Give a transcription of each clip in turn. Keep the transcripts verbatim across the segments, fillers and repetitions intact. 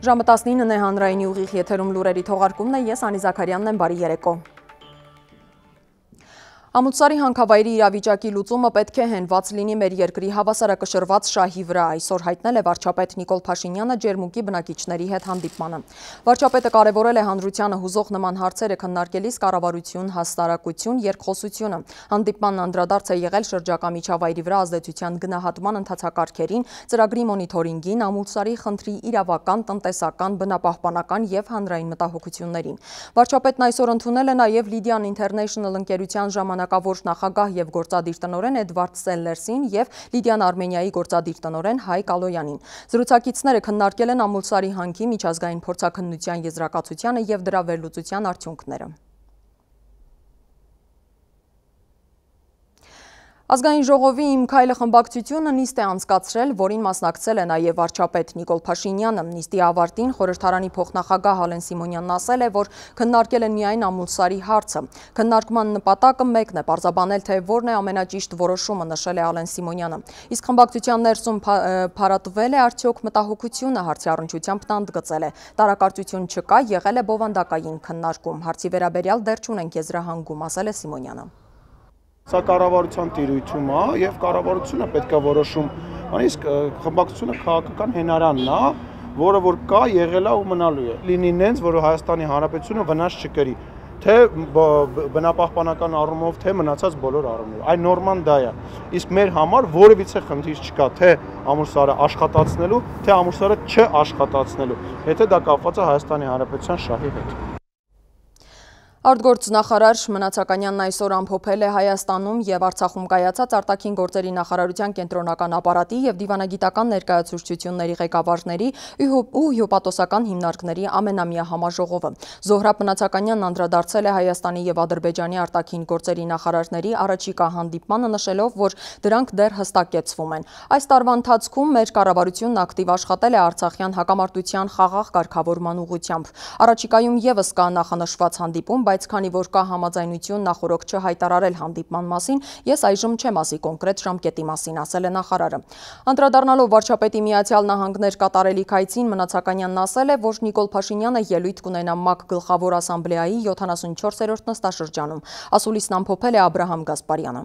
Ժամը տասնինն է հանրայինի ուղիղ եթերում լուրերի թողարկումն է, ես Անի Զաքարյանն եմ, բարի երեկո։ Ամուլսարի հանքավայրի իրավիճակի լուծումը պետք է հենված լինի մեր երկրի հավասարակշռված շահի վրա, այսօր հայտնել է վարչապետ Նիկոլ Փաշինյանը ջերմուկի բնակիչների հետ հանդիպմանը։ Վարչապետը կարևորել է հանրությանը հուզող նման հարցերը քննարկելիս կառավարություն, հասարակություն, երկխոսությունը։ Հանդիպմանն անդրադարձ է եղել շրջակա միջավայրի վրա ազդեցության գնահատման ընթացակարգերին, ծրագրի մոնիթորինգին, Ամուլսարի խնդրի իրավական, տնտեսական, բնապահպանական եւ հանրային մտահոգություններին։ Վարչապետն այսօր ընդունել է նաեւ Lydian International ընկերության ժամանակավոր նախագահ եւ գործադիր տնօրեն Էդվարդ Սելլերսին եւ Lydian Armenia-ի գործադիր տնօրեն Հայկ Ալոյանին։ Զրուցակիցները քննարկել են Ամուլսարի հանքի միջազգային փորձաքննության եզրակացությանը եւ դրա վերլուծության արդյունքները։ Ազգային ժողովի «Իմ քայլը» խմբակցությունը նիստ է անցկացրել, որին մասնակցել է նաև վարչապետ Նիկոլ Փաշինյանը։ Նիստի ավարտին խորհրդարանի փոխնախագահ Ալեն Սիմոնյանն ասել է, որ քննարկել են միայն Ամուլսարի հարցը։ Քննարկման նպատակը մեկն է՝ պարզաբանել, թե որն է ամենաճիշտ որոշումը, նշել է Ալեն Սիմոնյանը։ Իսկ խմբակցության ներսում փարատվել է արդյոք մտահոգությունը, հարցի առնչությամբ նա ընդգծել է։ Տարակարծություն չկա, եղել է բովանդակային քննարկում։ Հարցի վերաբերյալ դեռ չունենք եզրահանգում, ասել է Սիմոնյանը։ Սա կառավարության տիրույթում է եւ կառավարությունը պետք է որոշում, իսկ խմբակցությունը քաղաքական հենարանն է, որը որ կա, եղել է ու մնալու է։ Լինի նենց, որ Հայաստանի Հանրապետությունը վնաս չկրի, թե բնապահպանական առումով, թե մնացած բոլոր առումներով։ Այն նորման դա է։ Իսկ մեր համար որևիցե խնդիր չկա, թե Ամուլսարը աշխատացնելու, թե Ամուլսարը չաշխատացնելու, եթե դա կապված է Հայաստանի Հանրապետության շահի հետ։ Արտգործնախարար Մնացականյանն այսօր ամփոփել է Հայաստանում եւ Արցախում կայացած արտաքին գործերի նախարարության կենտրոնական ապարատի եւ դիվանագիտական ներկայացուցչությունների ղեկավարների ու հյուպատոսական հիմնարկների ամենամյա համաժողովը։ Զոհրաբ Մնացականյանն անդրադարձել է Հայաստանի եւ Ադրբեջանի արտաքին գործերի նախարարների առաջիկա հանդիպմանը, նշելով, որ դրանք դեռ հստակեցվում են։ Այս տարվա ընթացքում մեր կառավարությունն ակտիվ աշխատել է Արցախյան հակամարտության խաղաղ կարգավորման ուղղությամբ։ Առաջիկայում եւս կա նախանշված հանդիպում, բայց քանի որ կա համաձայնություն նախորոք չհայտարարել հանդիպման մասին, ես այժմ չեմ ասի կոնկրետ ժամկետի մասին, ասել է նախարարը։ Անդրադառնալով վարչապետի Միացյալ Նահանգներ կատարելիք այցին, Մնացականյանն ասել է, որ Նիկոլ Փաշինյանը ելույթ կունենա ՄԱԿ Գլխավոր ասամբլեայի յոթանասունչորսերորդ նստաշրջանում, ասուլիսն ամփոփել է Աբրահամ Գասպարյանը։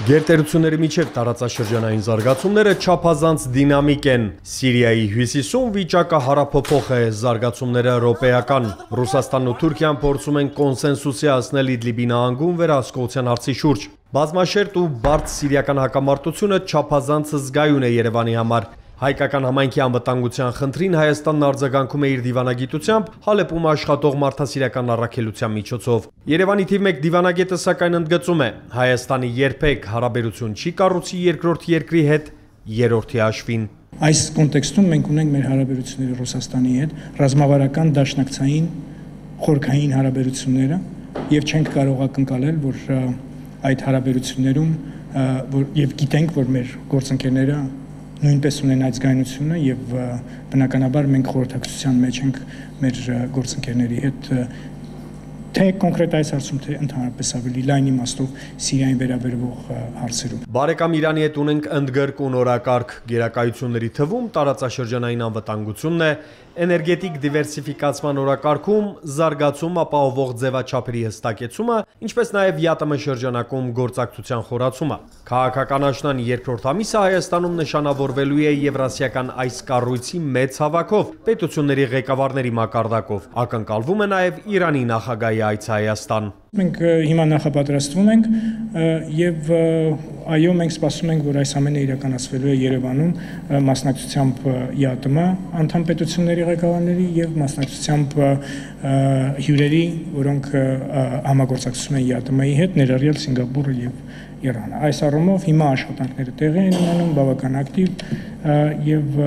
Գերտերությունների միջև տարածաշրջանային զարգացումները չափազանց դինամիկ են։ Սիրիայի հյուսիսում վիճակը հարափոփող է, զարգացումները րոպեական։ Ռուսաստանն ու Թուրքիան փորձում են կոնսենսուսի հասնել Իդլիբի նահանգում վերահսկողության հարցի շուրջ։ Բազմաշերտ ու բարդ սիրիական հակամարտությունը չափազանց զգայուն է Երևանի համար։ Հայկական համայնքի անվտանգության խնդրին Հայաստանն արձագանքում է իր դիվանագիտությամբ, Հալեպում աշխատող մարդասիրական առաքելության միջոցով։ Երևանի թիվ մեկ դիվանագետը սակայն ընդգծում է, Հայաստանի երբեք հարաբերություն չի կառուցի երկրորդ երկրի հետ երրորդի հաշվին։ Այս կոնտեքստում մենք ունենք մեր հարաբերությունները Ռուսաստանի հետ, ռազմավարական դաշնակցային խորքային հարաբերությունները եւ չենք կարող ակնկալել, որ այդ հարաբերություններում եւ գիտենք, որ մեր գործընկերները նույնպես ունեն այդ զգայունությունը եւ բնականաբար մենք խորհրդակցության մեջ ենք մեր գործընկերների հետ թե կոնկրետ այս հարցում, թե ընդհանրապես ավելի լայն իմաստով Սիրիային վերաբերող հարցերում։ Բարեկամ Իրանի հետ ունենք ընդգրկուն օրակարգ, գերակայությունների թվում տարածաշրջանային անվտանգությունն է, էներգետիկ դիվերսիֆիկացման օրակարգում զարգացում ապահովող ձևաչափերի հստակեցումը, ինչպես նաև ԵԱՏՄ շրջանակում գործակցության խորացումը։ Քաղաքական աշնան երկրորդ ամիսը Հայաստանում նշանավորվելու է Եվրասիական այս կառույցի մեծ հավաքով, պետությունների ղեկավարների մակարդակով։ Ակնկալվում է նաև Իրանի նախագահի այցը Հայաստան։ Մենք հիմա նախապատրաստվում ենք եւ այո, մենք սպասում ենք, որ այս ամենը իրականացվելու է Երևանում մասնակցությամբ ԵԱՏՄ անդամ պետությունների ղեկավարների եւ մասնակցությամբ հյուրերի, որոնք համագործակցում են ԵԱՏՄ-ի հետ, ներառյալ Սինգապուրը եւ Իրանը։ Այս առումով հիմա աշխատանքները տեղի են ունենում, բավական ակտիվ եւ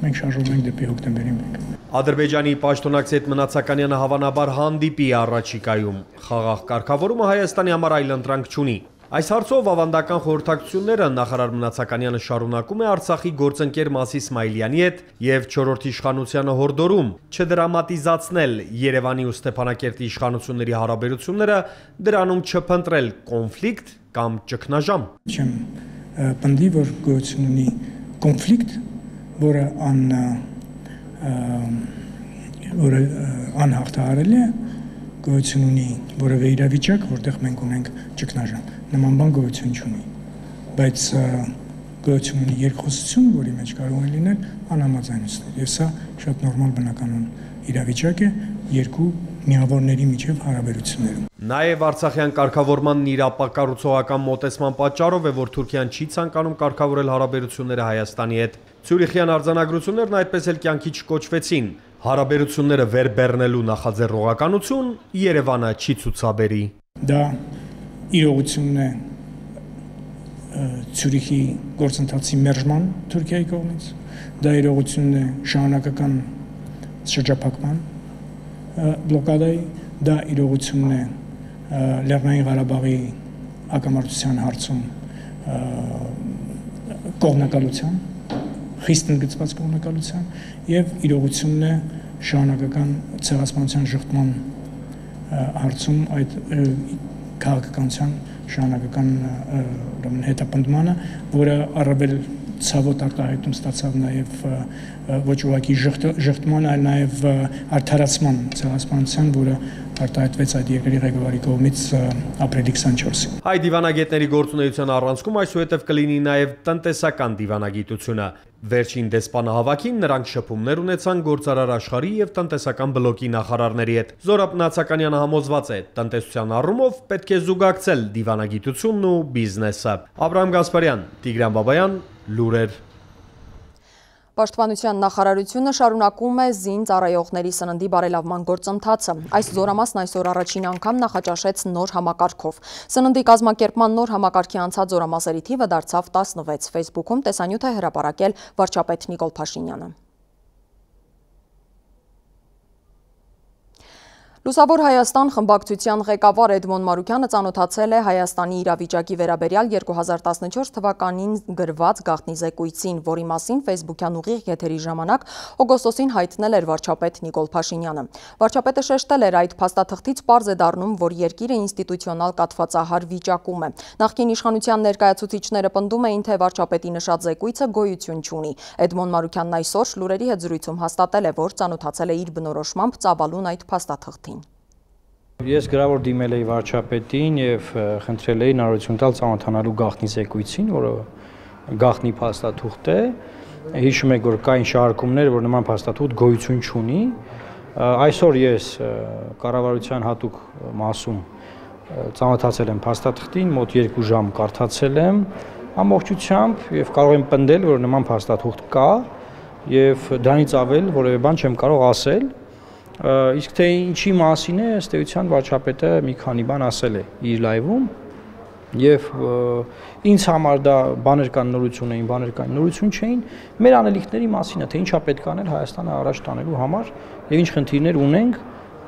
մենք շարժվում ենք դեպի հոկտեմբերի մեկը։ Ադրբեջանի պաշտոնակից հետ Մնացականյանը հավանաբար հանդիպի առաջիկայում։ Խաղաղ կարգավորումը Հայաստանի համար այլ ընտրանք չունի։ Այս հարցով ավանդական խորհրդակցությունները նախարար Մնացականյանը շարունակում է Արցախի գործընկեր Մասի Իսմայիլյանի հետ եւ չորրորդ իշխանությանը հորդորում չդրամատիզացնել Երևանի ու Ստեփանակերտի իշխանությունների հարաբերությունները, դրանում չփնտրել կոնֆլիկտ կամ ճգնաժամ։ Չեմ պնդի, որ գոյություն ունի կոնֆլիկտ, որը ան որը անհաղթահարելի է, գոյություն ունի որևէ իրավիճակ, որտեղ մենք ունենք ճգնաժամ։ Նման բան գոյություն չունի, բայց գոյություն ունի երկխոսություն, որի մեջ կարող են լինել անհամաձայնություններ, եւ սա շատ նորմալ բնականon իրավիճակ է երկու միավորների միջև հարաբերություններում։ Նաև Արցախյան կարգավորմանն իր ապակառուցողական մոտեցման պատճառով է, որ Թուրքիան չի ցանկանում կարգավորել հարաբերությունները Հայաստանի հետ։ Ցյուրիխյան արձանագրություններն այդպես էլ կյանքի չկոչվեցին։ Հարաբերությունները վերբեռնելու նախաձեռնողականություն Երևանը չի ցուցաբերի։ Դա իրողությունն է Ցյուրիխի գործընթացի մերժման Թուրքիայի կողմից, դա իրողությունն է շահանակական շրջափակման բլոկադայի, դա իրողությունն է Լեռնային Ղարաբաղի հակամարտության հարցում կողմնակալության, խիստ ընդգծված կողմնակալության եւ իրողությունն է շահանակական ցեղասպանության շղթման հարցում այդ քաղաքականության շահանակական հետապնդմանը, որը առավել ցավոտ արտահայտում ստացավ նաև ոչ ուղղակի ժխտման, այլ նաև արդարացման ցեղասպանության, որը արտահայտվեց այդ երկրի ղեկավարի կողմից ապրիլի քսանչորսին։ Հայ դիվանագետների գործունեության առանցքում այսուհետև կլինի նաև տնտեսական դիվանագիտությունը։ Վերջին դեսպանահավաքին նրանք շփումներ ունեցան գործարար աշխարհի եւ տնտեսական բլոկի նախարարների հետ։ Զորաբ Նացականյանը համոզված է, տնտեսության առումով պետք է զուգակցել դիվանագիտությունն ու բիզնեսը։ Աբրահամ Գասպարյան, Տիգրան Բաբայան, լուրեր։ Պաշտպանության նախարարությունը շարունակում է զին ծառայողների սննդի բարելավման գործընթացը։ Այս զորամասն այսօր առաջին անգամ նախաճաշեց նոր համակարգով։ Սննդի կազմակերպման նոր համակարգի անցած զորամասերի թիվը դարձավ տասնվեց։ Facebook-ում տեսանյութ է հրապարակել վարչապետ Նիկոլ Փաշինյանը։ Լուսավոր Հայաստան խմբակցության ղեկավար Էդմոն Մարուկյանը ծանոթացել է Հայաստանի իրավիճակի վերաբերյալ երկու հազար տասնչորս թվականին գրված գաղտնի զեկույցին, որի մասին Facebook-յան ուղիղ եթերի ժամանակ օգոստոսին հայտնել էր վարչապետ Նիկոլ Փաշինյանը։ Վարչապետը շեշտել էր, այդ փաստաթղթից պարզ է դառնում, որ երկիրը ինստիտուցիոնալ կաթվածահար վիճակում է։ Նախկին իշխանության ներկայացուցիչները պնդում էին, թե վարչապետի նշած զեկույցը գոյություն չունի։ Էդմոն Մարուկյանն այսօր լուրերի հետ զրույցում հաստատել է, որ ծանոթացել է իր բնորոշմամբ ծավալուն այդ փաստաթղթին։ Ես գրավոր դիմել էի վարչապետին եւ խնդրել էի հնարավորություն տալ ծանոթանալու գաղտնի զեկույցին, որը գաղտնի փաստաթուղթ է։ Հիշում եք, որ կային շարքումներ, որ նման փաստաթուղթ գոյություն չունի։ Այսօր ես կառավարության հատուկ մասում ծանոթացել եմ փաստաթղթին, մոտ երկու ժամ կարդացել եմ ամբողջությամբ եւ կարող եմ պնդել, որ նման փաստաթուղթ կա եւ դրանից ավել որևէ բան չեմ կարող ասել։ Իսկ թե ինչի մասին է, ըստ էության վարչապետը մի քանի բան ասել է իր լայվում եւ ինձ համար դա բաներ կան նորություն էին, բաներ կան նորություն չէին, մեր անելիքների մասին է, թե ինչա պետք անել Հայաստանը առաջ տանելու համար եւ ինչ խնդիրներ ունենք,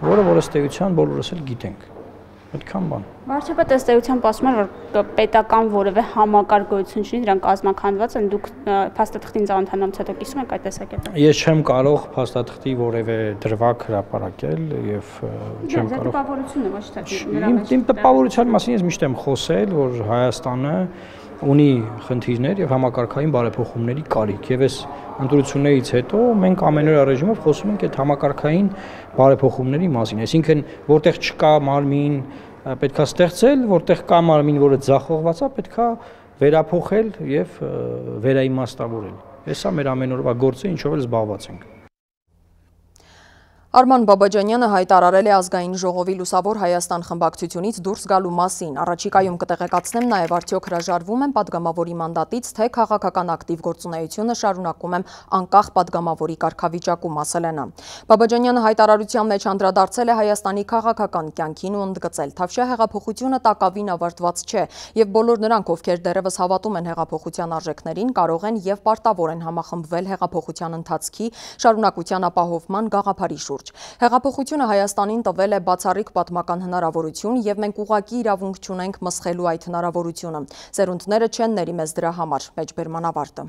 որը որ ըստ էության բոլորս էլ գիտենք։ Այդքան բան։ Վարչապետը ըստ էության ասում էր, որ պետական որևէ համակարգ գոյություն չունի, դրանք կազմաքանդված են, դուք փաստաթղթին ծանոթանալուց հետո կիսում եք այդ տեսակետը։ Ես չեմ կարող փաստաթղթի որևէ դրվագ հրապարակել եւ չեմ կարող։ Դա տպավորություն է, ոչ թե իմ տպավորության մասին ես միշտ եմ խոսել, որ Հայաստանը ունի խնդիրներ եւ համակարգային բարեփոխումների կարիք եւ այս ընտրություններից հետո մենք ամենօրյա ռեժիմով խոսում ենք այդ համակարգային բարեփոխումների մասին, այսինքն որտեղ չկա մարմին պետքա ստեղծել, որտեղ կա մարմին, որը ձախողված է, պետքա վերափոխել եւ վերաիմաստավորել։ Սա մեր ամենօրյա գործը, ինչով էլ զբաղված ենք։ Արման Բաբաջանյանը հայտարարել է ազգային ժողովի Լուսավոր Հայաստան խմբակցությունից դուրս գալու մասին։ Առաջիկայում կտեղեկացնեմ նաև արդյոք հրաժարվում են падգամավորի մանդատից, թե քաղաքական ակտիվ գործունեությունը շարունակում եմ անկախ падգամավորի կարգավիճակում, ասել է նա։ Բաբաջանյանը հայտարարության մեջ անդրադարձել է Հայաստանի քաղաքական կյանքին ու ընդգծել. Թավշյա հեղափոխությունը տակավին ավարտված չէ, եւ բոլոր նրանք, ովքեր դեռևս հավատում են հեղափոխության արժեքներին, կարող են եւ պարտավոր են համախմբվել հեղափոխության ընթացքի շարունակության ապահովման գաղափարի շուրջ։ Հեղափոխությունը Հայաստանին տվել է բացառիկ պատմական հնարավորություն եւ մենք ուղղակի իրավունք չունենք մսխելու այդ հնարավորությունը։ Սերունդները չեն ների մեզ դրա համար, մեջբերման ավարտը։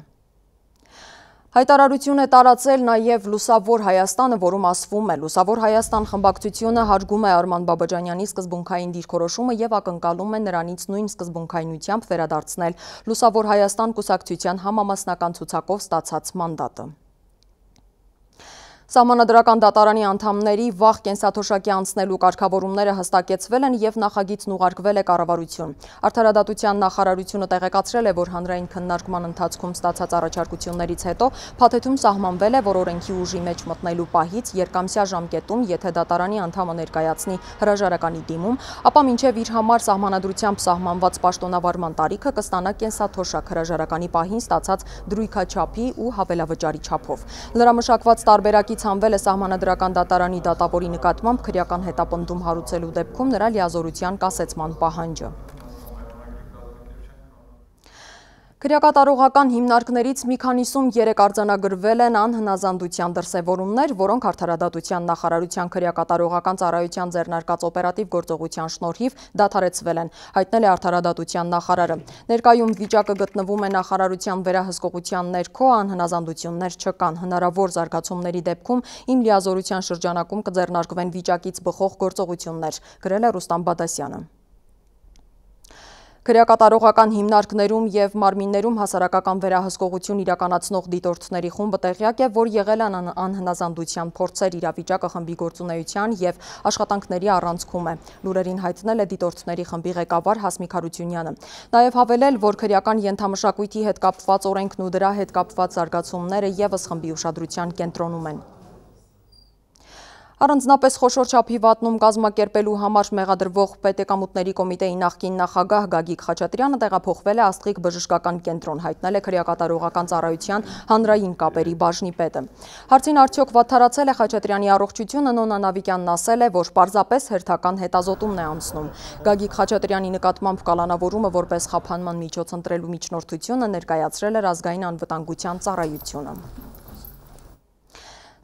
Հայտարարություն է տարածել նաև Լուսավոր Հայաստանը, որում ասվում է Լուսավոր Հայաստան խմբակցությունը հարգում է Արման Բաբաջանյանի սկզբունքային դիրքորոշումը եւ ակնկալում է նրանից նույն սկզբունքայնությամբ վերադարձնել Լուսավոր Հայաստան կուսակցության համամասնական ցուցակով ստացած մանդատը։ Սահմանադրական դատարանի անդամների վաղ կենսաթոշակի անցնելու կարգավորումները հստակեցվել են եւ նախագիծն ուղարկվել է կառավարություն։ Արդարադատության նախարարությունը տեղեկացրել է, որ հանրային քննարկման ընթացքում ստացած առաջարկություններից հետո փաթեթում սահմանվել է, որ օրենքի ուժի մեջ մտնելու պահից երկամսյա ժամկետում, եթե դատարանի անդամը ներկայացնի հրաժարականի դիմում, ապա մինչև իր համար սահմանադրությամբ սահմանված պաշտոնավարման տարիքը կստանա կենսաթոշակ հրաժարականի պահին ստացած դրույքաչափի ու հավելավճարի չափով։ Լրամշակված տարբերակի հանվել է սահմանադրական դատարանի դատավորի նկատմամբ քրեական հետապնդում հարուցելու դեպքում նրա լիազորության կասեցման պահանջը։ Քրեակատարողական հիմնարկներից մի քանիսում երեք արձանագրվել են անհնազանդության դրսևորումներ, որոնք արդարադատության նախարարության քրեակատարողական ծառայության ձեռնարկած օպերատիվ գործողության շնորհիվ դադարեցվել են, հայտնել է արդարադատության նախարարը։ Ներկայում վիճակը գտնվում է նախարարության վերահսկողության ներքո, անհնազանդություններ չկան, հնարավոր զարգացումների դեպքում իմ լիազորության շրջանակում կձեռնարկվեն վիճակից բխող գործողություններ, գրել է Ռուստամ Բադասյանը։ Քրեակատարողական հիմնարկներում եւ մարմիններում հասարակական վերահսկողություն իրականացնող դիտորդների խումբը տեղյակ է, որ եղել են անհնազանդության փորձեր, իրավիճակը խմբի գործունեության եւ աշխատանքների առանցքում է։ Լուրերին հայտնել է դիտորդների խմբի ղեկավար Հասմիկ Հարությունյանը։ Նաեւ հավելել, որ քրեական ենթամշակույթի հետ կապված օրենքն ու դրա հետ կապված զարգացումները եւս խմբի ուշադրության կենտրոնում են։ Առանձնապես խոշոր չափի վատնում կազմակերպելու համար մեղադրվող Պետեկամուտների կոմիտեի նախկին նախագահ Գագիկ Խաչատրյանը տեղափոխվել է Աստղիկ բժշկական կենտրոն, հայտնել է քրեակատարողական ծառայության հանրային կապերի բաժնի պետը։ Հարցին արդյոք վատթարացել է Խաչատրյանի առողջությունը, Նոնա Նավիկյանն ասել է, որ պարզապես հերթական հետազոտումն է անցնում։ Գագիկ Խաչատրյանի նկատմամբ կալանավորումը որպես խափանման միջոց ընտրելու միջնորդությունը ներկայացրել էր ազգային անվտանգության ծառայությունը։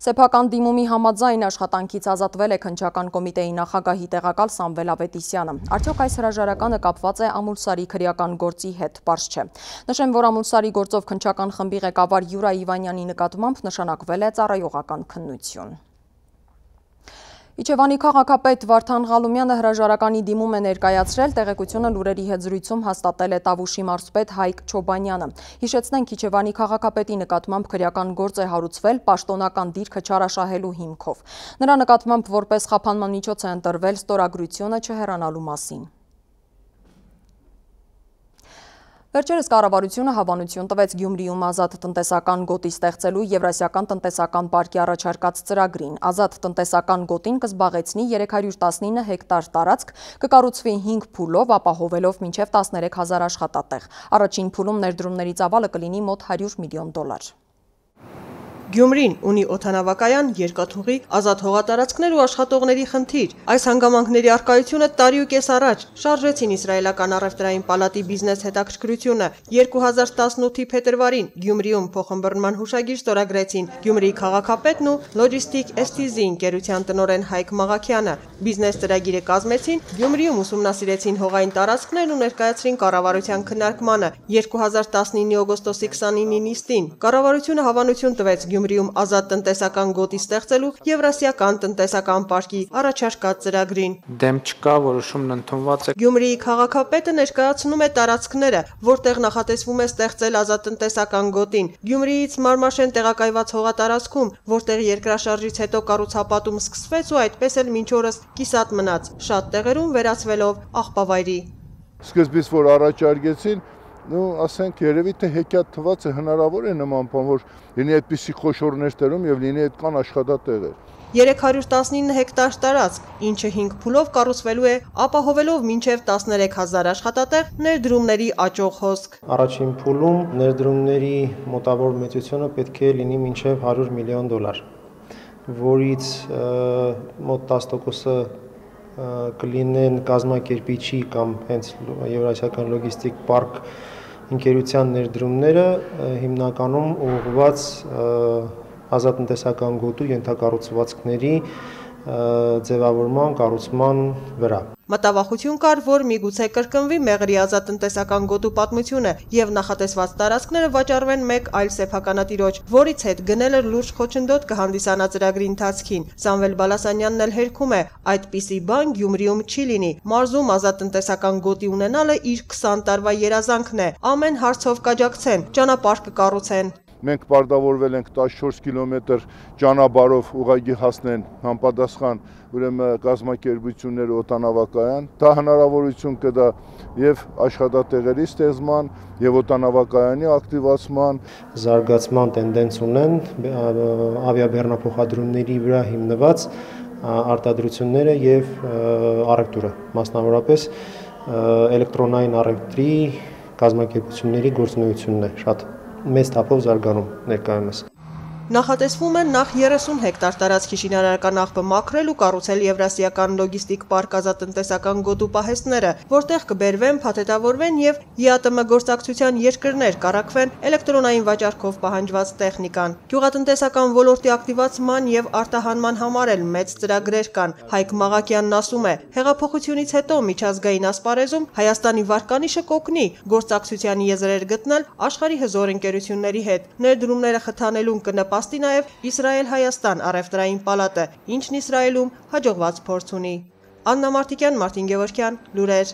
Սեփական դիմումի համաձայն աշխատանքից ազատվել է քննչական կոմիտեի նախագահի տեղակալ Սամվել Ավետիսյանը։ Արդյոք այս հրաժարականը կապված է Ամուլսարի քրեական գործի հետ, պարզ չէ։ Նշեմ, որ Ամուլսարի գործով քննչական խմբի ղեկավար Յուրա Իվանյանի նկատմամբ նշանակվել է ծառայողական քննություն։ Իջևանի քաղաքապետ Վարդան Ղալումյանը հրաժարականի դիմում է ներկայացրել, տեղեկությունը լուրերի հետ զրույցում հաստատել է Տավուշի մարզպետ Հայկ Չոբանյանը։ Հիշեցնենք, Իջևանի քաղաքապետի նկատմամբ քրեական գործ է հարուցվել պաշտոնական դիրքը չարաշահելու հիմքով։ Նրա նկատմամբ որպես խափանման միջոց է ընտրվել ստորագրությունը չհեռանալու մասին։ Վերջերս կառավարությունը հավանություն տվեց Գյումրիում ազատ տնտեսական գոտի ստեղծելու Եվրասիական տնտեսական պարկի առաջարկած ծրագրին։ Ազատ տնտեսական գոտին կզբաղեցնի երեք հարյուր տասնինը հեկտար տարածք, կկառուցվի հինգ փուլով, ապահովելով մինչև տասներեք հազար աշխատատեղ։ Առաջին փուլում ներդրումների ծավալը կլինի մոտ հարյուր միլիոն դոլար։ Գյումրին ունի օդանավակայան, երկաթուղի, ազատ հողատարածքներ ու աշխատողների խնդիր։ Այս հանգամանքների առկայությունը տարի ու կես առաջ շարժեցին իսրայելական առևտրային պալատի բիզնես հետաքրքրությունը։ երկու հազար տասնութի փետրվարին Գյումրիում փոխըմբռնման հուշագիր ստորագրեցին Գյումրիի քաղաքապետն ու Logistic էս թի զի ընկերության տնօրեն Հայկ Մաղաքյանը։ Բիզնես ծրագիրը կազմեցին, Գյումրիում ուսումնասիրեցին հողային տարածքներն ու ներկայացրին կառավարության քննարկմանը երկու հազար տասնինի օգոստոսի քսանինի նիստին։ Կառավարությունը հավանություն տվեց Գյումրիում ազատ տնտեսական գոտի ստեղծելու Եվրասիական տնտեսական պարկի առաջարկած ծրագրին։ Դեմ չկա, որոշումն ընդունված է։ Գյումրիի քաղաքապետը ներկայացնում է տարածքները, որտեղ նախատեսվում է ստեղծել ազատ տնտեսական գոտին։ Գյումրիից Մարմաշեն տեղակայված հողատարածքում, որտեղ երկրաշարժից հետո կառուցապատում սկսվեց ու այդպես էլ մինչ օրս կիսատ մնաց, շատ տեղերում վերածվելով աղբավայրի։ Սկզբից որ առաջարկեցին, նու ասենք երևի թե հեքիաթ թված է, հնարավոր է նման բան, որ լինի այդպիսի խոշոր ներդրում եւ լինի այդքան աշխատատեղեր։ երեք հարյուր տասնինը հեկտար տարածք, ինչը հինգ փուլով կառուցվելու է, ապահովելով մինչև տասներեք հազար աշխատատեղ, ներդրումների աճող հոսք։ Առաջին փուլում ներդրումների մոտավոր մեծությունը պետք է լինի մինչև հարյուր միլիոն դոլար, որից մոտ տասը տոկոսը կլինեն կազմակերպիչի կամ հենց Եվրասիական լոգիստիկ պարկ ընկերության ներդրումները, հիմնականում ուղղված ազատ տնտեսական գոտու ենթակառուցվածքների ձևավորման, կառուցման վրա։ Մտավախություն կար, որ միգուցե կրկնվի Մեղրի ազատտնտեսական գոտու պատմությունը եւ նախատեսված տարածքները վաճառվեն մեկ այլ սեփականատիրոջ, որից հետ գնելը լուրջ խոչընդոտ կհանդիսանա ծրագրի ընթացքին։ Սամվել Բալասանյանն էլ հերքում է, այդպիսի բան Գյումրիում չի լինի։ Մարզում ազատտնտեսական գոտի ունենալը իր քսան տարվա երազանքն է։ Ամեն հարցով կաջակցեն, ճանապարհ կկառուցեն։ Մենք պարտավորվել ենք տասնչորս կիլոմետր ճանապարհով ուղղակի հասնեն համապատասխան ուրեմն կազմակերպություններ օտանավակայան, դա հնարավորություն կտա եւ աշխատատեղերի ստեղծման եւ օտանավակայանի ակտիվացման, զարգացման տենդենս ունեն ավիաբեռնափոխադրումների վրա հիմնված արտադրությունները եւ առևտուրը, մասնավորապես էլեկտրոնային առևտրի կազմակերպությունների գործունեությունն է շատ մեծ թափով զարգանում ներկայումս։ Նախատեսվում է նախ երեսուն հեկտար տարածքի շինարարական աղբը մաքրել ու կառուցել Եվրասիական լոգիստիկ պարկ ազատտնտեսական գոտու պահեստները, որտեղ կբերվեն, փաթեթավորվեն եւ ԵԱՏՄ գործակցության երկրներ կառաքվեն էլեկտրոնային վաճառքով պահանջված տեխնիկան։ Գյուղատնտեսական ոլորտի ակտիվացման եւ արտահանման համար էլ մեծ ծրագրեր կան։ Հայկ Մաղաքյանն ասում է, հեղափոխությունից հետո միջազգային ասպարեզում Հայաստանի վարկանիշը կօգնի գործակցության եզրեր գտնել աշխարհի հզոր ընկերությունների հետ։ Ներդրումները խթանելուն կնպաստի Աստի նաև Իսրայել-Հայաստան առևտրային պալատը, ինչն Իսրայելում հաջողված փորձ ունի։ Աննա Մարտիկյան, Մարտին Գևորգյան, լուրեր։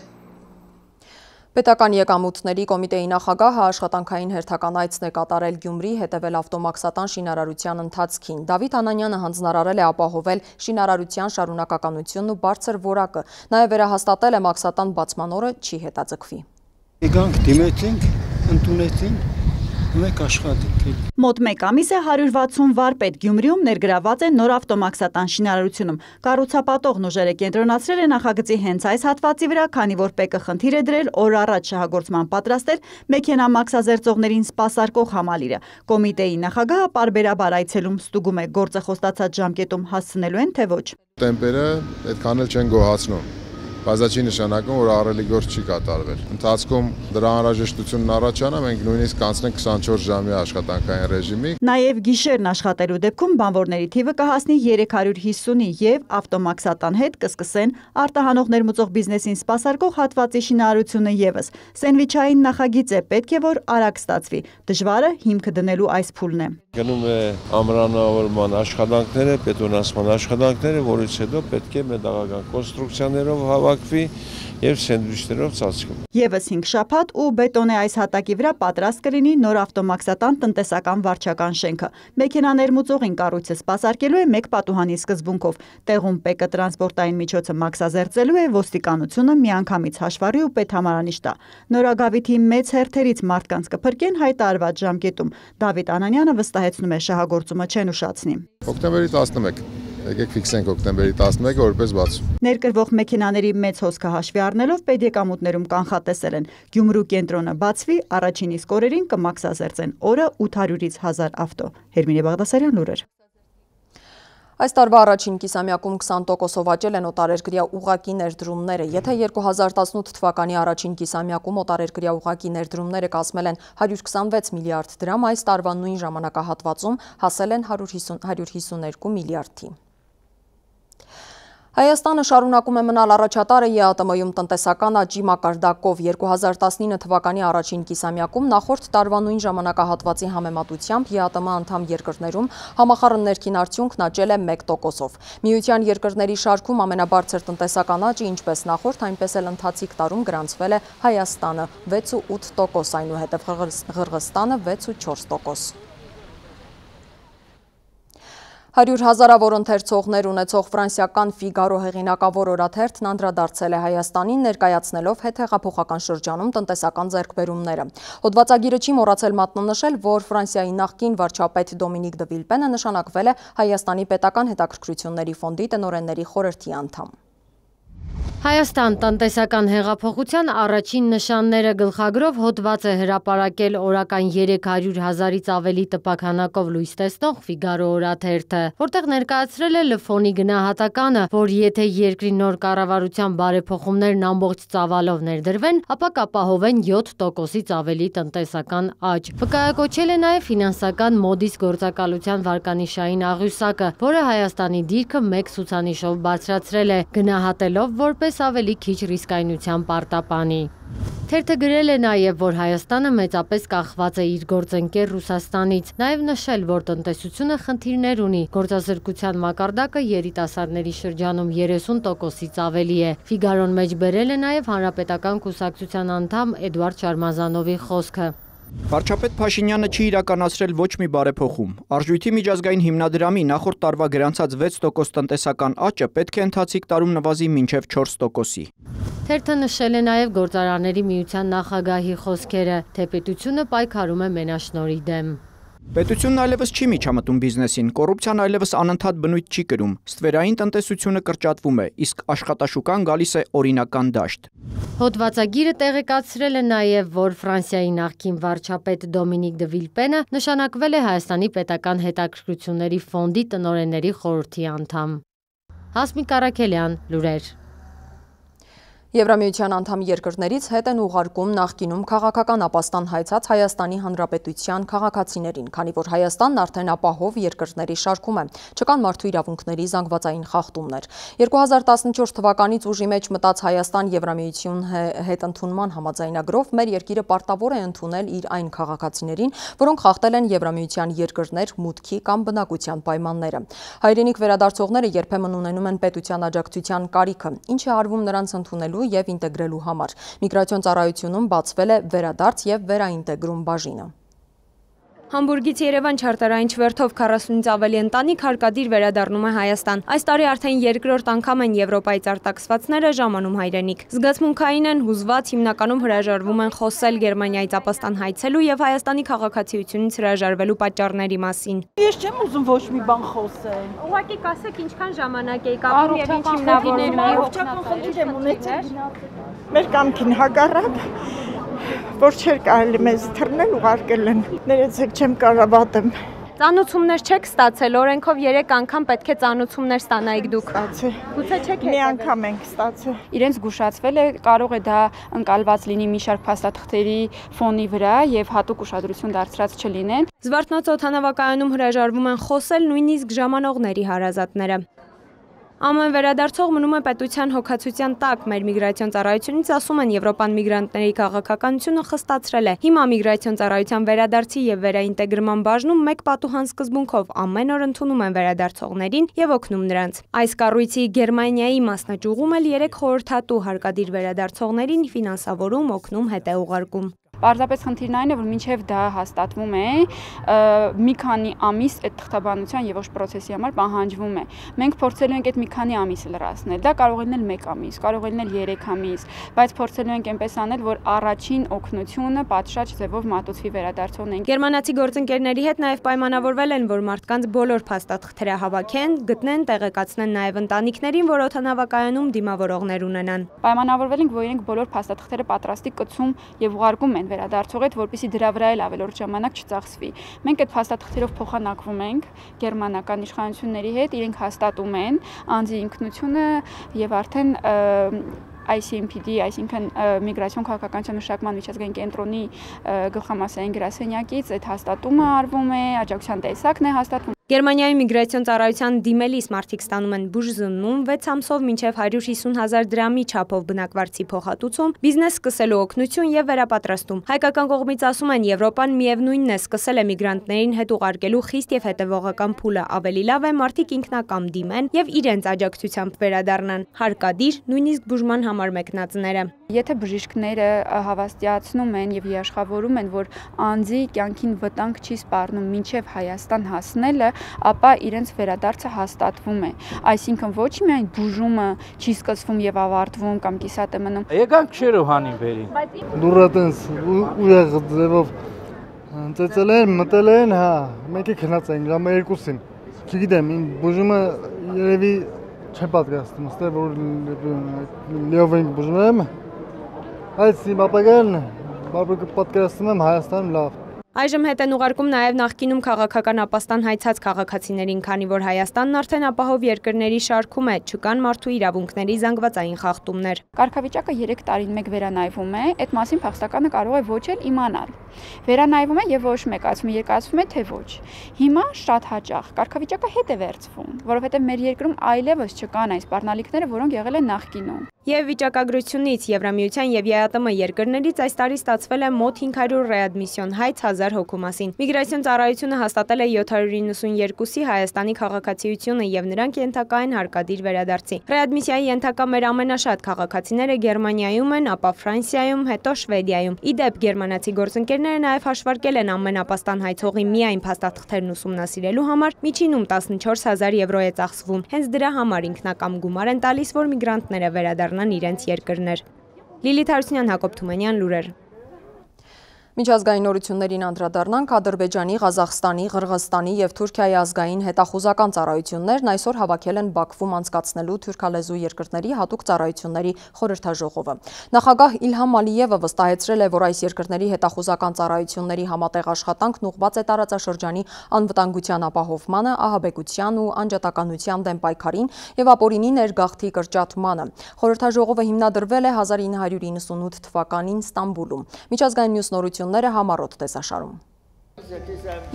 Պետական եկամուտների կոմիտեի նախագահը աշխատանքային հերթական այցն է կատարել Գյումրի, հետևել ավտոմաքսատան շինարարության ընթացքին։ Դավիթ Անանյանը հանձնարարել է ապահովել շինարարության շարունակականությունն ու բարձր որակը, նաև վերահաստատել է մաքսատան բացման օրը չի հետաձգվի։ Եկանք, դիմեցինք, ընդունեցինք, մեկ աշխատենք։ Մոտ մեկ ամիս է հարյուր վաթսուն վարպետ Գյումրիում ներգրաված է նոր ավտոմաքսատան շինարարությունում։ Կառուցապատողն ուժերը կենտրոնացրել է նախագծի հենց այս հատվածի վրա, քանի որ ՊԵԿ-ը խնդիր է դրել օր առաջ շահագործման պատրաստել մեքենա մաքսազերծողներին սպասարկող համալիրը։ Կոմիտեի նախագահը պարբերաբար այցելում ստուգում է գործը խոստացած ժամկետում հասցնելու են, թե ոչ։ Տեմպերը այդքան էլ չեն գոհացնում։ Բայց դա չի նշանակում, որ ահռելի գործ չի կատարվել։ Ընթացքում դրա անհրաժեշտությունն առաջանա, մենք նույնիսկ կանցնենք քսանչորս ժամյա աշխատանքային ռեժիմի։ Նաև գիշերն աշխատելու դեպքում բանվորների թիվը կհասնի երեք հարյուր հիսունի եւ ավտոմաքսատան հետ կսկսեն արտահանող ներմուծող բիզնեսին սպասարկող հատվածի շինարարությունը եւս։ Սենդվիչային նախագիծ է, պետք է որ արագ ստացվի։ Դժվարը հիմքը դնելու այս փուլն է։ Գնում է ամրանավորման աշխատանքները, բետոնացման աշխատանքները, որից հետո պետք է մետաղական կոնստրուկցիաներով հավաքվի եւ սենդվիչներով ծածկում։ Եվս հինգ շաբաթ ու բետոնե այս հատակի վրա պատրաստ կլինի նոր ավտոմաքսատան տնտեսական վարչական շենքը։ Մեքենա ներմուծողին կառույցը սպասարկելու է մեկ պատուհանի սկզբունքով։ Տեղում ՊԵԿ-ը տրանսպորտային միջոցը մաքսազերծելու է, ոստիկանությունը միանգամից հաշվառի ու պետհամարանիշ տա։ Նորագավիթի մեծ հերթերից մարդկանց կփրկեն հայտարարված ժամկետում։ Դավիթ Անանյանը վստահեցնում է շահագործումը չեն ուշացնի։ Օկտեմբերի տասնմեկ Եկեք ֆիքսենք օկտեմբերի տասնմեկը որպես բացում։ Ներկրվող մեքենաների մեծ հոսքը հաշվի առնելով պետեկամուտներում կանխատեսել են Գյումրու կենտրոնը բացվի, առաջին իսկ օրերին կմաքսազերծեն օրը ութ հարյուրից հազար ավտո։ Հերմինե Բաղդասարյան, լուրեր։ Այս տարվա առաջին կիսամյակում քսան տոկոսով աճել են օտարերկրյա ուղղակի ներդրումները։ Եթե երկու հազար տասնութ թվականի առաջին կիսամյակում օտարերկրյա ուղղակի ներդրումները կազմել են հարյուր քսանվեց միլիարդ դրամ, այս տարվա նույն ժամանակահատվածում հասել են հարյուր հիսուներկու միլիարդի։ Հայաստանը շարունակում է մնալ առաջատարը ԵԱՏՄ-ում տնտեսական աճի մակարդակով։ երկու հազար տասնինը թվականի առաջին կիսամյակում նախորդ տարվա նույն ժամանակահատվածի համեմատությամբ ԵԱՏՄ անդամ երկրներում համախառն ներքին արդյունքն աճել է մեկ տոկոսով։ Միության երկրների շարքում ամենաբարձր տնտեսական աճը ինչպես նախորդ, այնպես էլ ընթացիկ տարում գրանցվել է Հայաստանը վեց ու ութ տոկոս, այնուհետև Ղրղստանը վեց ու չորս տոկոս։ Հարյուր հազարավոր ընթերցողներ ունեցող ֆրանսիական Ֆիգարո հեղինակավոր օրաթերթն անդրադարձել է Հայաստանին, ներկայացնելով հետհեղափոխական շրջանում տնտեսական ձեռքբերումները։ Հոդվածագիրը չի մոռացել մատնանշել, որ Ֆրանսիայի նախկին վարչապետ Դոմինիկ դը Վիլպենը նշանակվել է Հայաստանի պետական հետաքրքրությունների ֆոնդի տնօրենների խորհրդի անդամ։ Հայաստան տնտեսական հեղափոխության առաջին նշանները գլխագրով հոդված է հրապարակել օրական երեք հարյուր հազարից ավելի տպաքանակով լույս տեսնող Ֆիգարո օրաթերթը, որտեղ ներկայացրել է Լֆոնի գնահատականը, որ եթե երկրի նոր կառավարության բարեփոխումներն ամբողջ ծավալով ներդրվեն, ապա կապահովեն յոթ տոկոսից ավելի տնտեսական աճ։ Վկայակոչել է նաև ֆինանսական մոդիս գործակալության վարկանիշային աղյուսակը, որը Հայաստանի դիրքը մեկ ցուցանիշով բարձրացրել է, գնահատելով որպես ավելի քիչ ռիսկայնության պարտապանի։ Թերթը գրել է նաև, որ Հայաստանը մեծապես կախված է իր գործընկեր Ռուսաստանից, նաև նշել, որ տնտեսությունը խնդիրներ ունի, գործազրկության մակարդակը երիտասարդների շրջանում երեսուն տոկոսից ավելի է։ Ֆիգարոն մեջ բերել է նաև Հանրապետական կուսակցության անդամ Էդուարդ Շարմազանովի խոսքը։ Վարչապետ Փաշինյանը չի իրականացրել ոչ մի բարեփոխում։ Արժույթի միջազգային հիմնադրամի նախորդ տարվա գրանցած վեց տոկոս տնտեսական աճը պետք է ընթացիկ տարում նվազի մինչև չորս տոկոսի։ Թերթը նշել է նաև Գործարանների միության նախագահի խոսքերը, թե պետությունը պայքարում է մենաշնորհի դեմ։ Պետությունն այլևս չի միջամտում բիզնեսին, կոռուպցիան այլևս անընդհատ բնույթ չի կրում, ստվերային տնտեսությունը կրճատվում է, իսկ աշխատաշուկան գալիս է օրինական դաշտ։ Հոդվածագիրը տեղեկացրել է նաև, որ Ֆրանսիայի նախկին վարչապետ Դոմինիկ դը Վիլպենը նշանակվել է Հայաստանի պետական հետաքրքրությունների ֆոնդի տնօրենների խորհրդի անդամ։ Հասմիկ Արաքելյան, լուրեր։ Եվրամիության անդամ երկրներից հետ են ուղարկում նախկինում քաղաքական ապաստան հայցած Հայաստանի Հանրապետության քաղաքացիներին, քանի որ Հայաստանն արդեն ապահով երկրների շարքում է, չկան մարդու իրավունքների զանգվածային խախտումներ։ երկու հազար տասնչորս թվականից ուժի մեջ մտած Հայաստան Եվրամիություն հետ ընդունման համաձայնագրով մեր երկիրը պարտավոր է ընդունել իր այն քաղաքացիներին, որոնք խախտել են Եվրամիության երկրներ մուտքի կամ բնակության պայմանները։ Հայրենիք վերադարձողները երբեմն ունենում են պետության աջակցության կարիքը, ինչը արվում նրանց ընդունելու և ինտեգրելու համար։ Միգրացիոն ծառայությունում բացվել է վերադարձ և վերաինտեգրում բաժինը։ Համբուրգից Երևան չարտարային չվերթով քառասունից ավելի ընտանիք հարկադիր վերադառնում է Հայաստան։ Այս տարի արդեն երկրորդ անգամ են Եվրոպայից արտաքսվածները ժամանում հայրենիք։ Զգացմունքային են, հուզված, հիմնականում հրաժարվում են խոսել Գերմանիայից ապաստան հայցելու և Հայաստանի քաղաքացիությունից հրաժարվելու պատճառների մասին։ Ես չեմ ուզում ոչ մի բան խոսել։ Ուղղակի կասեք ինչքան ժամանակ եք ապրում և ինչ հիմնավորում եք։ Առողջական խնդիր եմ ունեցել։ Մեր կամքին հակառակ որ չէր կարելի մեզ թռնել ուղարկել են։ Ներեցեք չեմ կարող վատեմ։ Ծանուցումներ չեք ստացել, օրենքով երեք անգամ պետք է ծանուցումներ ստանայիք դուք։ Ստացել։ Գուցե չեք մի անգամ ենք ստացել։ Իրենց զգուշացվել է, կարող է դա ընկալված լինի մի շարք փաստաթղթերի ֆոնի վրա եւ հատուկ ուշադրություն դարձրած չլինեն։ Զվարթնոց օդանավակայանում հրաժարվում են խոսել նույնիսկ ժամանողների հարազատները։ Ամեն վերադարձող մնում է պետության հոգացության տակ, մեր միգրացիոն ծառայությունից ասում են Եվրոպան միգրանտների քաղաքականությունը խստացրել է։ Հիմա միգրացիոն ծառայության վերադարձի և վերաինտեգրման բաժնում մեկ պատուհան սկզբունքով ամեն օր ընդունում են վերադարձողներին և օգնում նրանց։ Այս կառույցի Գերմանիայի մասնաճյուղում էլ երեք խորհրդատու հարկադիր վերադարձողներին ֆինանսավորում, օգնում, հետ է ուղարկում։ Պարզապես խնդիրն այն է, որ մինչև դա հաստատվում է, մի քանի ամիս այդ թղթաբանության եւ ոչ պրոցեսի համար պահանջվում է։ Մենք փորձելու ենք այդ մի քանի ամիսը լրացնել։ Դա կարող է լինել մեկ ամիս, կարող է լինել երեք ամիս, բայց փորձելու ենք այնպես անել, որ առաջին օգնությունը պատշաճ ձևով մատուցվի վերադարձողներին։ Գերմանացի գործընկերների հետ նաեւ պայմանավորվել են, որ մարդկանց բոլոր փաստաթղթերը հավաքեն, գտնեն, տեղեկացնեն նաեւ ընտանիքներին, որ օդանավակայանում դիմավորողներ ունենան։ Պայմանավորվել ենք, որ իրենք բոլոր փաստաթղթերը պատրաստի կցում եւ ուղարկում են վերադարձող հետ, որպեսզի դրա վրա էլ ավելորդ ժամանակ չծախսվի։ Մենք այդ փաստաթղթերով փոխանակվում ենք գերմանական իշխանությունների հետ, իրենք հաստատում են անձի ինքնությունը եւ արդեն I C M P D, այսինքն միգրացիոն քաղաքականության մշակման միջազգային կենտրոնի գլխամասային գրասենյակից այդ հաստատումը արվում է, աջակցության տեսակն է հաստատվում։ Գերմանիայի միգրացիոն ծառայության դիմելիս մարդիկ ստանում են բուժզննում վեց ամսով մինչև հարյուր հիսուն հազար դրամի չափով բնակվարձի փոխհատուցում, բիզնես սկսելու օգնություն եւ վերապատրաստում։ Հայկական կողմից ասում են Եվրոպան միևնույնն է սկսել է միգրանտներին հետ ուղարկելու խիստ եւ հետեւողական փուլը, ավելի լավ է մարդիկ ինքնակամ դիմեն եւ իրենց աջակցությամբ վերադառնան, հարկադիր, նույնիսկ բուժման համար մեկնածները։ Եթե բժիշկները հավաստիացնում են եւ իշխավորում են, որ անձի կյանքին վտանգ չի սպառնում մինչեւ Հայաստան հասնելը, ապա իրենց վերադարձը հաստատվում է։ Այսինքն ոչ միայն բուժումը չի սկսվում եւ ավարտվում կամ կիսատ է մնում։ Եկանք Շերովանին բերին։ Դուրատենց ուժեղ ձևով ծեծել են, մտել են, հա, մեկը քնած են, կամ երկուսին։ Չգիտեմ, ին բուժումը երևի չեմ պատկերացնում, ըստ որ լիով ենք բուժում, այս իմ ապագան, բարձր պատկերացնում եմ Հայաստանում լավ։ Այժմ հետ են ուղարկում նաև նախկինում քաղաքական ապաստան հայցած քաղաքացիներին, քանի որ Հայաստանն արդեն ապահով երկրների շարքում է, չկան մարդու իրավունքների զանգվածային խախտումներ։ Կարգավիճակը երեք տարին մեկ վերանայվում է, այդ մասին փախստականը կարող է ոչ էլ իմանալ։ Վերանայվում է եւ ոչ մեկացվում, երկացվում է թե ոչ։ Հիմա շատ հաճախ կարգավիճակը հետ է վերցվում, որովհետեւ մեր երկրում այլևս չկան այս սպառնալիքները, որոնք եղել են նախկինում։ Եվ վիճակագրությունից Եվրամիության եւ ԵԱՏՄ երկրներից այս տարի ստացվել է մոտ հինգ հարյուր ռեադմիսիոն հայց հազար հոգու մասին։ Միգրացիոն ծառայությունը հաստատել է յոթ հարյուր իննսունյոթի Հայաստանի քաղաքացիությունը եւ նրանք ենթակա են հարկադիր վերադարձի։ Ռեադմիսիայի ենթակա մեր ամենաշատ քաղաքացիները Գերմանիայում են, ապա Ֆրանսիայում, հետո Շվեդիայում։ Իդեպ գերմանացի գործընկերները նաեւ հաշվարկել են ամենապաստան հայցողի միայն փաստաթղթերն ուսումնասիրելու համար միջինում տասնչորս հազար եվրո է ծախսվում։ Հենց դրա համար ինքնակամ գումար են տալիս, որ միգրանտները վերադառնան իրենց երկրներ։ Լիլիթ Հարությունյան, Հակոբ Թումանյան, լուրեր։ Միջազգային նորություններին անդրադառնանք, Ադրբեջանի, Ղազախստանի, Ղրղստանի եւ Թուրքիայի ազգային հետախուզական ծառայություններն այսօր հավաքել են Բաքվում անցկացնելու թուրքալեզու երկրների հատուկ ծառայությունների խորհրդաժողովը։ Նախագահ Իլհամ Ալիևը վստահեցրել է, որ այս երկրների հետախուզական ծառայությունների համատեղ աշխատանքն ուղղված է տարածաշրջանի անվտանգության ապահովմանը, ահաբեկության ու անջատականության դեմ պայքարին եւ ապօրինի ներգաղթի կրճատմանը։ Խորհրդաժողովը հիմնադրվել է հազար ինը հարյուր իննսունութ թվականին Ստամբուլում։ Միջազգային մյուս նորությունները համառոտ տեսաշարում։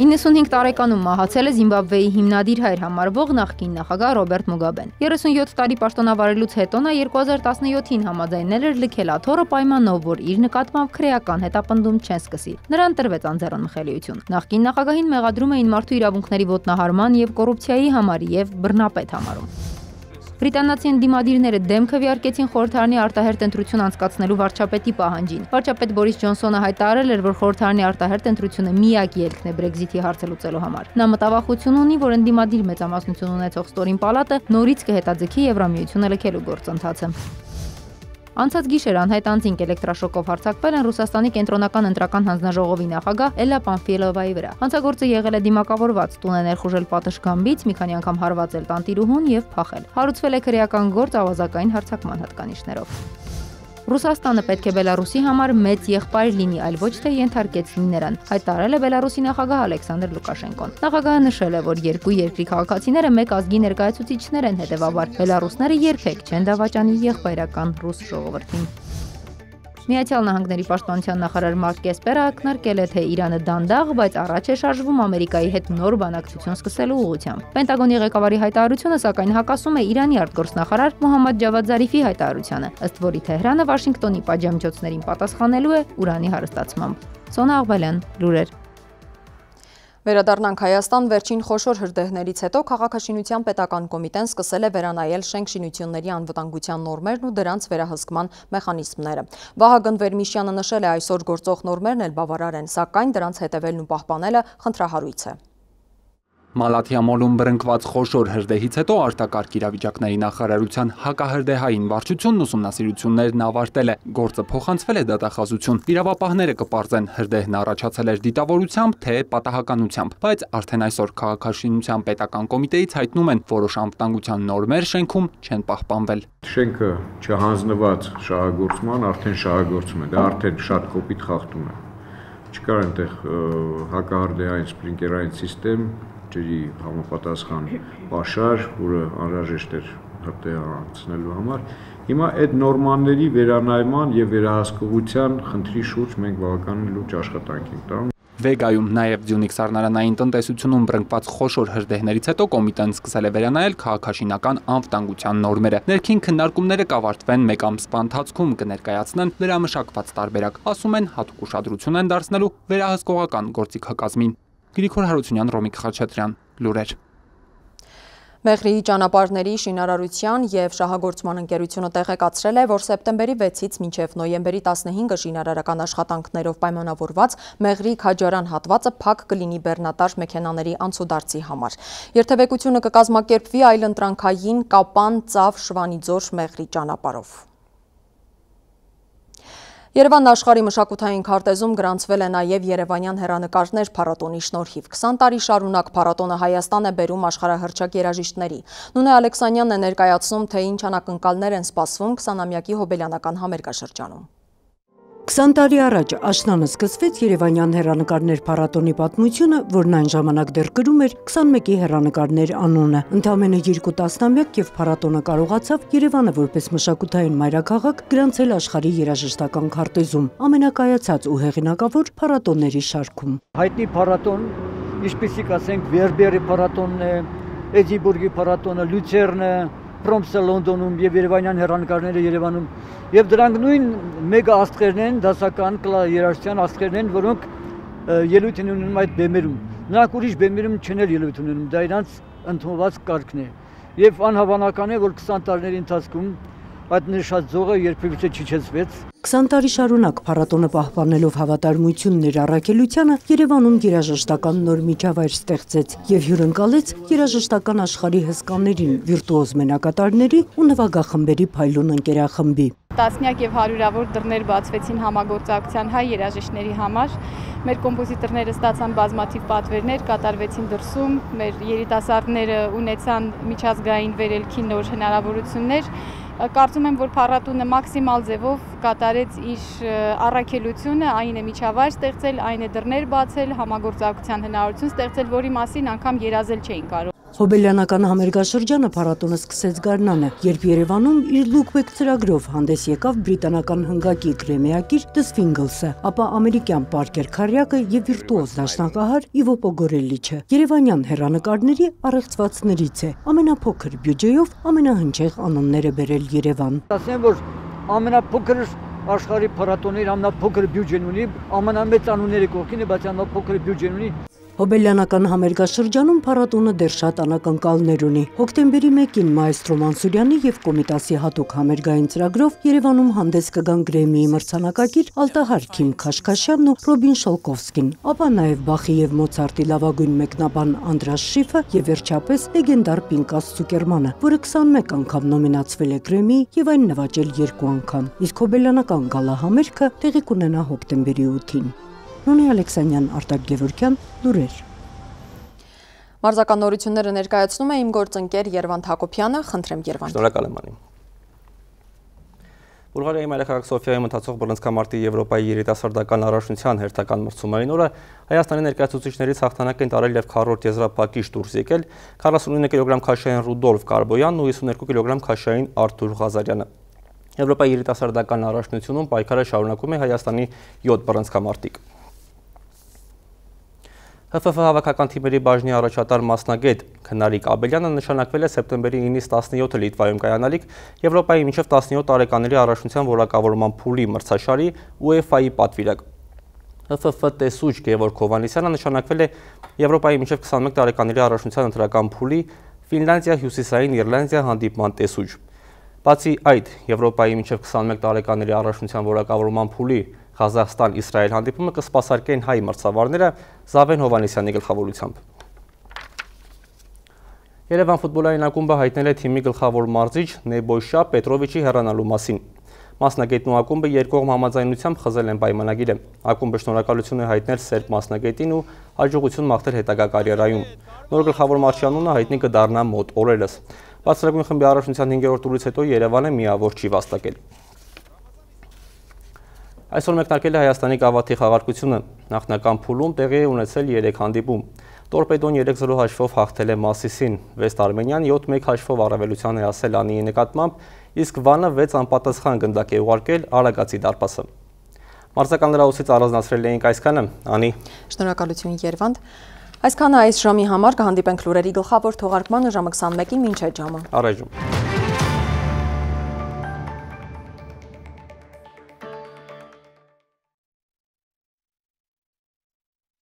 իննսունհինգ տարեկանում մահացել է Զիմբաբվեի հիմնադիր հայր համարվող նախկին նախագահ Ռոբերտ Մուգաբեն։ երեսունյոթ տարի պաշտոնավարելուց հետո նա երկու հազար տասնյոթին համաձայնել էր լքել աթոռը պայմանով, որ իր նկատմամբ քրեական հետապնդում չեն սկսի։ Նրան տրվեց անձեռնմխելիություն։ Նախկին նախագահին մեղադրում էին մարդու իրավունքների ոտնահարման եւ կոռուպցիայի համար եւ բռնապետ համարում։ Բրիտանացի ընդդիմադիրները դեմ քվեարկեցին խորհրդարանի արտահերթ ընտրություն անցկացնելու վարչապետի պահանջին։ Վարչապետ Բորիս Ջոնսոնը հայտարարել էր, որ խորհրդարանի արտահերթ ընտրությունը միակ ելքն է Բրեքզիթի հարցը լուծելու համար։ Նա մտավախություն ունի, որ ընդդիմադիր մեծամասնություն ունեցող ստորին պալատը նորից կհետաձգի Եվրամիությունը լքելու գործընթացը։ Անցած գիշեր անհայտ անձինք էլեկտրաշոկով հարձակվել են Ռուսաստանի կենտրոնական ընտրական հանձնաժողովի նախագահ Էլլա Պանֆիելովայի վրա։ Հանցագործը եղել է դիմակավորված, տուն է ներխուժել պատշգամբից, մի քանի անգամ հարվածել տանտիրուհուն եւ փախել։ Հարուցվել է քրեական գործ ավազակային հարձակման հատկանիշներով։ Ռուսաստանը պետք է Բելարուսի համար մեծ եղբայր լինի, այլ ոչ թե ենթարկեցնի նրան, հայտարարել է Բելարուսի նախագահ Ալեքսանդր Լուկաշենկոն։ Նախագահը նշել է, որ երկու երկրի քաղաքացիները մեկ ազգի ներկայացուցիչներ են, հետևաբար բելարուսները երբեք չեն դավաճանի եղբայրական ռուս ժողովրդին։ Միացյալ Նահանգների պաշտպանության նախարար Մարկ Էսպերը ակնարկել է, թե Իրանը դանդաղ, բայց առաջ է շարժվում Ամերիկայի հետ նոր բանակցություն սկսելու ուղղությամբ։ Պենտագոնի ղեկավարի հայտարարությունը սակայն հակասում է Իրանի արտգործնախարար Մոհամմադ Ջավադ Զարիֆի հայտարարությանը, ըստ որի Թեհրանը Վաշինգտոնի պատժամիջոցներին պատասխանելու է ուրանի հարստացմամբ։ Սոնա Աղբալյան, լուրեր։ Վերադառնանք Հայաստան, վերջին խոշոր հրդեհներից հետո քաղաքաշինության պետական կոմիտեն սկսել է վերանայել շենքշինությունների անվտանգության նորմերն ու դրանց վերահսկման մեխանիզմները։ Վահագն Վերմիշյանը նշել է, այսօր գործող նորմերն էլ բավարար են, սակայն դրանց հետևելն ու պահպանելը խնդրահարույց է։ Մալաթիամոլում բռնկված խոշոր հրդեհից հետո արտակարգ իրավիճակների նախարարության հակահրդեհային վարչությունն ուսումնասիրություններն ավարտել է, գործը փոխանցվել է դատախազություն։ Իրավապահները կպարզեն հրդեհն առաջացել էր դիտավորությամբ, թե պատահականությամբ, բայց արդեն այսօր քաղաքաշինության պետական կոմիտեից հայտնում են, որոշ անվտանգության նորմեր շենքում չեն պահպանվել։ Շենքը չհանձնված շահագործման արդեն շահագործում է, դա արդեն շատ կոպիտ խախտում է։ Չկար այնտեղ հակահրդեհային սպրինկլերային սիստեմ, ջրի համապատասխան պաշար, որը անհրաժեշտ էր հրդեհ անցնելու համար։ Հիմա այդ նորմաների վերանայման եւ վերահսկողության խնդրի շուրջ մենք բավականին լուրջ աշխատանք ենք տանում։ Վեգայում նաև Ձյունիք սառնարանային տնտեսությունում բռնկված խոշոր հրդեհներից հետո կոմիտեն սկսել է վերանայել քաղաքաշինական անվտանգության նորմերը։ Ներքին քննարկումները կավարտվեն մեկ ամսվա ընթացքում, կներկայացնեն վերամշակված տարբերակ, ասում են հատուկ ուշադրություն են դարձնելու վերահսկողական գործիքակազմին։ Գրիգոր Հարությունյան, Ռոմիկ Խաչատրյան, լուրեր։ Մեղրիի ճանապարհների շինարարության եւ շահագործման ընկերությունը տեղեկացրել է, որ սեպտեմբերի վեցից մինչև նոյեմբերի տասնհինգը շինարարական աշխատանքներով պայմանավորված Մեղրիի Քաջարան հատվածը փակ կլինի բեռնատար մեքենաների անցուդարձի համար։ Երթևեկությունը կկազմակերպվի այլընտրանքային Կապան, Ծավ, Շվանիձոր, Մեղրի ճանապարհով։ Երևան աշխարհի մշակութային քարտեզում գրանցվել է նաև երևանյան հեռանկարներ փառատոնի շնորհիվ։ քսան տարի շարունակ փառատոնը Հայաստան է բերում աշխարհահռչակ երաժիշտների։ Նունե Ալեքսանյանն է ներկայացնում, թե ինչ անակնկալներ են սպասվում քսանամյակի հոբելյանական համերգաշրջանում։ քսան տարի առաջ աշնանը սկսվեց Երևանյան հեռանկարներ փառատոնի պատմությունը, որն այն ժամանակ դեռ կրում էր քսանմեկի հեռանկարներ անունը։ Ընդամենը երկու տասնամյակ եւ փառատոնը կարողացավ Երևանը որպես մշակութային մայրաքաղաք գրանցել աշխարհի երաժշտական քարտեզում, ամենակայացած ու հեղինակավոր փառատոնների շարքում։ Հայտնի փառատոն, ինչպեսիք ասենք Վերբերի փառատոնն է, Էդինբուրգի փառատոնը, Լյուցերնը, Պրոմսը Լոնդոնում եւ Երևանյան հեռանկարները Երևանում եւ դրանք նույն մեգա աստղերն են, դասական երաժշտության աստղերն են, որոնք ելույթ են ունենում այդ բեմերում։ Նրանք ուրիշ բեմերում չեն ելույթ ունենում, դա իրանց ընդունված կարգն է։ Եվ անհավանական է, որ քսան տարիների ընթացքում այդ նշած ձողը երբևէ չիջեցվեց։ քսան տարի շարունակ փառատոնը պահպանելով հավատարմությունն իր առաքելությանը Երևանում երաժշտական նոր միջավայր ստեղծեց եւ հյուրընկալեց երաժշտական աշխարհի հսկաներին, վիրտուոզ մենակատարների ու նվագախմբերի փայլուն ընկերախմբի։ Տասնյակ եւ հարյուրավոր դռներ բացվեցին համագործակցության հայ երաժիշտների համար։ Մեր կոմպոզիտորները ստացան բազմաթիվ պատվերներ, կատարվեցին դրսում, մեր երիտասարդները ունեցան միջազգային վերելքի նոր հնարավորություններ։ Կարծում եմ, որ փառատոնը մաքսիմալ ձևով կատարեց իր առաքելությունը, այն է միջավայր ստեղծել, այն է դռներ բացել, համագործակցության հնարավորություն ստեղծել, որի մասին անգամ երազել չէին կարող։ Հոբելյանական համերգաշրջանը փառատոնը սկսեց գարնանը, երբ Երևանում իր Lookback ծրագրով հանդես եկավ բրիտանական հնգակի գրեմիակիր The Swinglesը, ապա ամերիկյան Պարկեր Քարյակը եւ վիրտուոզ դաշնակահար Իվո Պոգորելիչը։ Երևանյան հեռանկարների առեղծվածներից է, ամենափոքր բյուջեով ամենահնչեղ անունները բերել Երևան։ Ասեմ, որ ամենափոքր աշխարհի փառատոնների ամենափոքր բյուջեն ունի, ամենամեծ անունների կողքին է, բայց ամենափոքր բյուջեն ունի։ Հոբելյանական համերգաշրջանում փառատոնը դեռ շատ անակնկալներ ունի։ Հոկտեմբերի մեկին Մայստրո Մանսուրյանի եւ Կոմիտասի հատուկ համերգային ծրագրով Երևանում հանդես կգան Գրեմիի մրցանակակիր Ալտահար Քիմ Քաշքաշյանն ու Ռոբին Շոլկովսկին, ապա նաեւ Բախի եւ Մոցարտի լավագույն մեկնաբան Անդրաս Շիֆը եւ վերջապես լեգենդար Պինկաս Ցուկերմանը, որը քսանմեկ անգամ նոմինացվել է Գրեմիի եւ այն նվաճել երկու անգամ։ Իսկ հոբելյանական գալա համերգը տեղի կունենա հոկտեմբերի ութին։ Նունե Ալեքսանյան, Արտակ Գևորգյան, լուրեր։ Մարզական նորությունները ներկայացնում է իմ գործընկեր Երվանդ Հակոբյանը, խնդրեմ Երվանդ։ Շնորհակալ եմ անի։ Բուլղարիայի մայրաքաղաք Սոֆիայում ընթացող բռնցքամարտի Եվրոպայի երիտասարդական առաջնության հերթական մրցումային օրը Հայաստանի ներկայացուցիչներից հաղթանակ են տարել եւ քառորդ եզրափակիչ դուրս եկել քառասունինը կիլոգրամ քաշային Ռուդոլֆ Կարբոյանն ու հիսուներկու կիլոգրամ քաշային Արթուր Ղազարյանը։ Եվրոպայի երիտասարդական առաջնությունում պայքարը շարունակում է Հայաստանի յոթ բռնցքամարտիկ։ Հ Ֆ Ֆ հավաքական թիմերի բաժնի առաջատար մասնագետ Քնարիկ Աբելյանը նշանակվել է սեպտեմբերի ինից տասնյոթը Լիտվայում կայանալիք Եվրոպայի մինչև տասնյոթ տարեկաների առաջնության որակավորման փուլի մրցաշարի ՈՒԵՖԱ-ի պատվիրակ։ Հ Ֆ Ֆ տեսուչ Գևորգ Հովհաննիսյանը նշանակվել է Եվրոպայի մինչև քսանմեկ տարեկաների առաջնության ընտրական փուլի Ֆինլանդիա հյուսիսային Իռլանդիա հանդիպման տեսուչ։ Բացի այդ, Եվրոպայի մինչև քսանմեկ տարեկաների առաջնության որակավորման փուլի Ղազախստան-Իսրայել հանդիպումը կսպասարկեն հայ մրցավարները Զավեն Հովհաննիսյանի գլխավորությամբ։ Երևան ֆուտբոլային ակումբը հայտնել է թիմի գլխավոր մարզիչ Նեբոյշա Պետրովիչի հեռանալու մասին։ Մասնագետն ու ակումբը երկկողմ համաձայնությամբ խզել են պայմանագիրը։ Ակումբը շնորհակալություն է հայտնել սերբ մասնագետին ու հաջողություն մաղթել հետագա կարիերայում։ Նոր գլխավոր մարզչի անունը հայտնի կդառնա մոտ օրերս։ Բարձրագույն խմբի առաջնության հինգերորդ տուրից հետո Երևանը միավոր չի վաստակել։ Այսօր մեկնարկել է Հայաստանի գավաթի խաղարկությունը։ Նախնական փուլում տեղի է ունեցել երեք հանդիպում։ Տորպեդոն երեք զրո հաշվով հաղթել է Մասիսին, Վեստ Արմենիան յոթ մեկ հաշվով առավելության է հասել Անիի նկատմամբ, իսկ Վանը վեց անպատասխան գնդակ է ուղարկել Արագածի դարպասը։ Մարզական լրահոսից առանձնացրել էինք այսքանը, Անի։ Շնորհակալություն Երվանդ։ Այսքանը այս ժամի համար կհանդիպենք լուրերի գլխավոր թողարկմանը ժամը քսանմեկին մինչև ժամը։ Առայժմ։